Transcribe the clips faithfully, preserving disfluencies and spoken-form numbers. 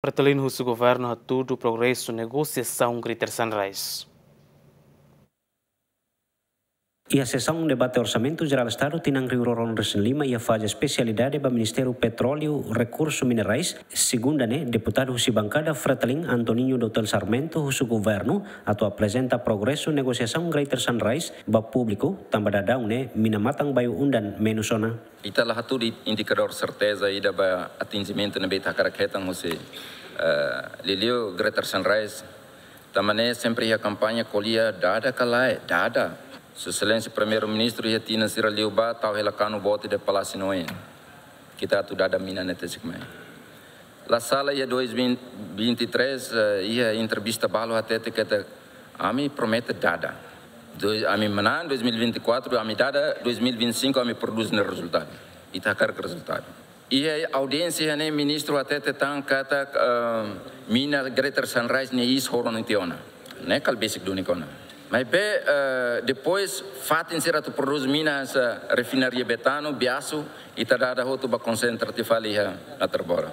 Fretilin husu governu hatudu progresu negosiasaun Greater Sunrise. Iha sesaun debate Orsamentu Jerál Estadu tinan rihun rua ruanulu-resin-lima iha faze espesialidade ba Ministériu Petróleu Rekursu Minerais, segunda ne'e, deputadu husi bankada Fretilin Antoninho Dotel Sarmento husu governu atu aprezenta progresu negosiasaun Greater Sunrise ba públiku, tanba daudaun ne'e mina matan-bayu undan menus ona. Ita la hatudu indikadór serteza ida ba atinjimentu ne'ebé ita hakarak hetan husi, eh, liuliu Greater Sunrise. Tanba ne'e sempre iha kampaña ko'alia dada ka lae, dada. Sua Exelénsia Primeiru-Ministru iha tinan sira liubá tau hela kanu boot iha Palásiu Noé. Ita atu dada mina ne'e tesi kmai. La sala iha dois mil vinte e três, eh, iha entrevista balu hatete katak ami promete dada. Dois, ami manán dois mil vinte e quatro, ami dada, dois mil vinte e cinco ami prodús ne'e rezultadu. Ita hakarak rezultadu. Iha audiénsia ne'e ministru hatete tan katak, eh, mina Greater Sunrise ne'e iis horon tiha ona. Ne'e kala besik duni kona. Maibé, eh, depois fatin sira atu prodús mina hanesan refinaria Betano, Biasu, ita dada hotu ba konsentra tiha fali iha Natar Bora.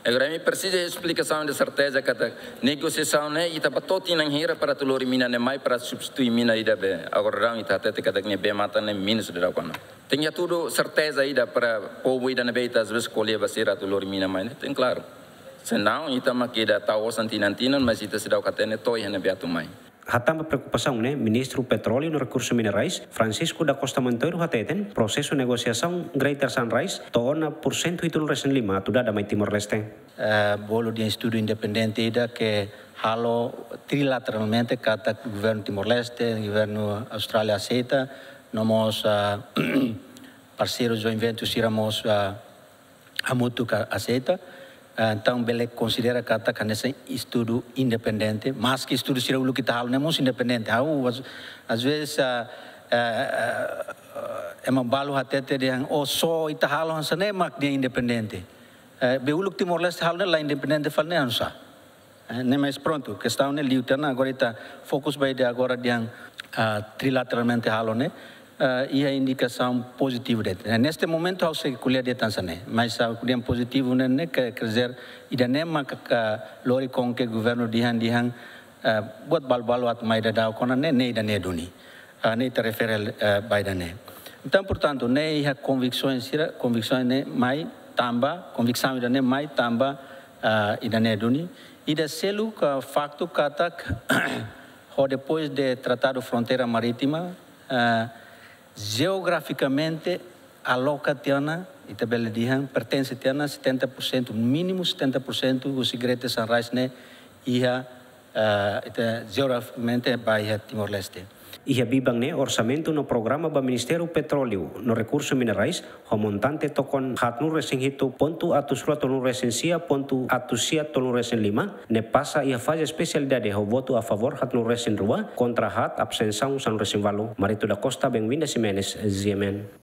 Agora ami presiza esplikasaun de serteza katak negosiasaun ne'e ita ba to'o tinan hira para atu lori mina ne'e mai para substitui mina ida be. Agora daudaun ita hatete katak ne'ebé matan ne'e menus daudaun kona. Tenke hatudu serteza ida para povu ida ne'ebé ita às vezes ko'alia ba sira atu lori mina mai ne'e, tenke klaru. Senão, ita mak ida tau osan tinan-tinan, mas ita seidauk hatene to'o iha ne'ebé atu mai. Hatán ba preokupasaun ne'e, Ministru Petróleu no Rekursu Minerais, Francisco da Costa Monteiro hateten, prosesu negosiasaun Greater Sunrise to'o ona pursentu hitunulu-resin-lima atu dada mai Timor-Leste. Eh, bolu dehan estudu independente ida ke halo trilateralmente katak governu Timor-Leste, governu Austrália aseita, no mós, ah, parseiru joint venture sira mós, ah, hamutuk aseita. Ah, entaun bele konsidera katak hanesan estudu independente, maski estudu sira uluk ita halo ne'e mós independente. Ha'u, às, às vezes, ah, eh, eh, ema balu hatete dehan, oh, só ita halo hanesan ne'e mak dehan independente. Eh, be uluk Timor-Leste halo ne'e la independente fali ne'e oinsá. Eh, ne'e mais prontu, kestaun ne'e liu tiha ona, agora ita fokus ba ida agora dehan, ah, trilateralmente halo ne'e, ah, iha indikasaun pozitivu de'it. Eh, neste momento ha'u sei ko'alia dehan hanesan ne'e, mas ha'u ko'alia pozitivu ne'e, ne'e ke, quer dizer, ida-ne'e maka lori konke governu dehan, dehan, ah, buat balu-balu atu mai daudaun kona ne'e, ne'e ida-ne'e duni. Ah, ne'e ita refere, eh, ba ida-ne'e. Entaun, portantu, ne'e iha konviksaun sira, konviksaun ne'e mai tanba, konviksaun ida-ne'e mai tanba, ah, ida-ne'e duni. Ida seluk, ah, faktu katak, ho depois de Tratadu Fronteira Marítima, ah, jeografikamente aloka tiha ona, ita bele dehan, pertense tiha ona setenta por cento, mínimu setenta por cento husi Greater Sunrise ne'e iha, eh, ita jeografikamente ba iha Timor-Leste. Iha biban ne'e orsamentu no programa ba Ministériu Petróleu no Rekursu Minerais ho montante tokon haatnulu-resin-hitu pontu atus rua tolunulu-resin-sia pontu atus sia tolunulu-resin-lima ne'e pasa iha faze espesialidade ho votu a favór haatnulu-resin-rua, kontra haat, abstensaun sanulu-resin-ualu. Marito da Costa, Benvinda Ximenes, G M N.